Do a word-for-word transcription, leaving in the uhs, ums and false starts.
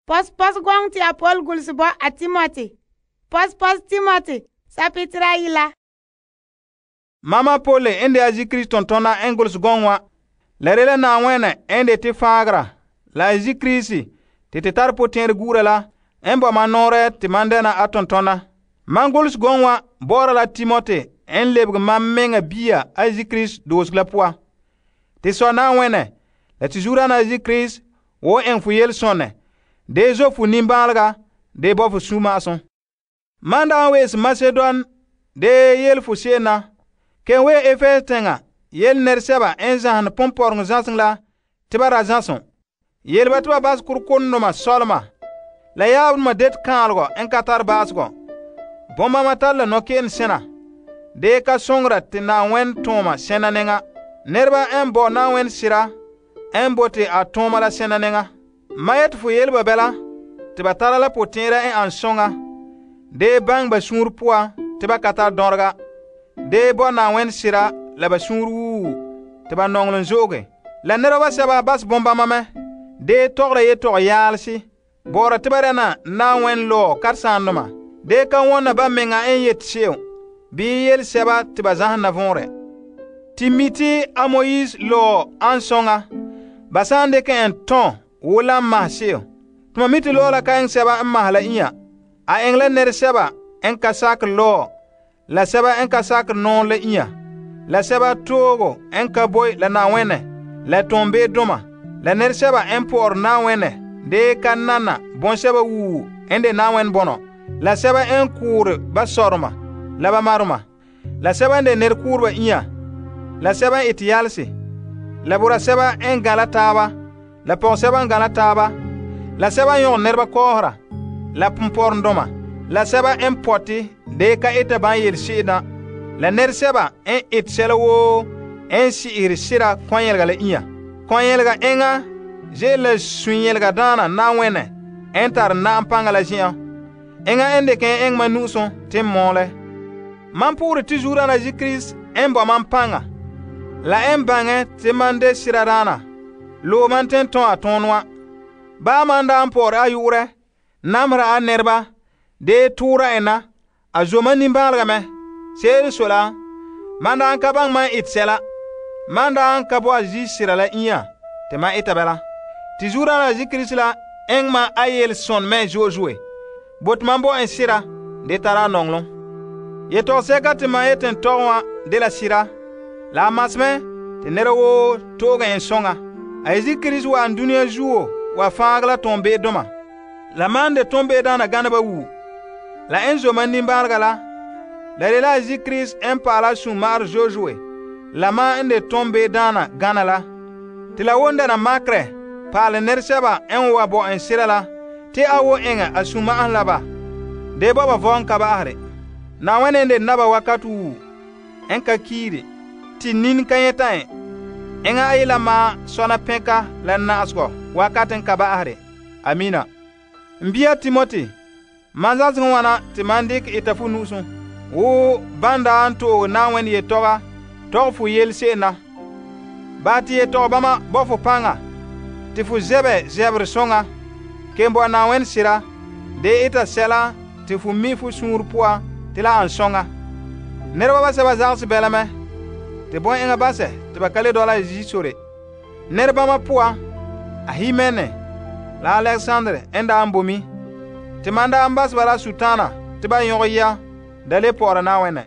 Pos pos gong te a Paul gulse bo a Timothy. Pos pos Timothy, sapitra yila. Mama Paul ende a Zikris tontona en gulse gong wa. La rela na wene ende te faagra. La Zikris te te tar potẽer gura la en bo man nore te man dena a tontona. Man gulse gong wa bora la Timothy en lebg man menga bia a Zikris doos la poa. Te so na wene la te zura na Zikris wo en fu yel sonne. De zo fu nimbalga de bo fu suma-ason. Man da wees Macedon de yel fu sena. Ken we Efes tenga yel nerseba en zahan pomporng zansing la tiba ra zanson. Yel ba tiba bas kurkonnoma solma. La yaabnuma det kaalgo en katar basgo. Bomba matalla no ken sena. De ka songra te na wen toma sena nenga. Nerba en bo na wen sira en bote a toma la sena nenga. Mayet fu yel ba bela tiba tara la potera en an songa. De bang ba sunur poa tiba katar dorga. De bo na wen sira la ba sunur wu tiba nonglon zoge. La nerba seba bas bomba mame. De togra ye tog yaalsi. Bora tiba rena na wen lo karsandoma. De ka wonna ba menga en yet sew. Bi yel seba tiba zahan na vonre. Timiti a Moïse lo an songa. Basande ke en ton wula mah sew. Tuma miti lo la ka en seba en mah la inya. A engla ner seba en ka sak lo. La seba en ka sak non la inya. La seba togo en ka boy la na wene. La tombe doma. La ner seba en por na wene. De ka nana bon seba wu en de na wen bono. La seba en kour ba sorma. La ba maruma. La seba en de ner kour ba inya. La seba iti yalsi. La bura seba en gala taba. La pon seba en gala taba. La seba yon nerba kohra. La pumpor doma. La seba en poti de ka ita ban yel shida. La ner seba en it sela wo en si iri sira kwanyelga la inya. Kwanyelga enga je la sunyelga dana na wene en tar na ampanga la jian. Enga en de ken eng manuson tim mole. Man pure tizura na Zikris en bo man panga. La en bange ti man de sira dana. Lo man ten ton a tonwa. Ba man da ampor a yure. Namra a nerba. De tura ena. A zoma nimbalga me. Seri sola. Man da an kabang man it sela. Man da an kabo a zi sira la inya. Te man itabela. Ti zura na Zikris la. Eng man a yel son men jojwe. Bot man bo en sira. De tara nonglon. Ye to seka te man eten towa de la sira. La masme te nere wo toga en songa. A Zikris wa an dunia zuo wa fangla tombe doma. La man de tombe dana ganaba wu. La enzo man nimbarga la. La de la Zikris en pala sumar jojwe. La man en de tombe dana gana la. Te la wonda na makre. Pala nerseba en wa bo en sira la. Te awo enga a suma an laba. De baba von kaba ahre. Na wene de naba wakatu wu. En ka kiri. Ti nin kanyeta en. Enga ayila ma sona penka la naasgo. Wakaten kaba ahre. Amina. Mbia Timothy. Manzas wana ti mandik itafu nusun. Wo banda anto na wen ye toga. Tog fu yel sena. Bati ye toga bama bofu panga. Ti fu zebe zebre songa. Kembo na wen sira. De ita sela. Ti fu mi fu sunur poa. Ti la an songa. Nerba ba seba zagsi belame. Te bon enga base. Ti ba kale dola jisore. Nerba ma poa. A Himene. La Alexandre enda ambomi. Ti manda ambas bala sutana. Ti ba yongo ya. Dale pora na wene.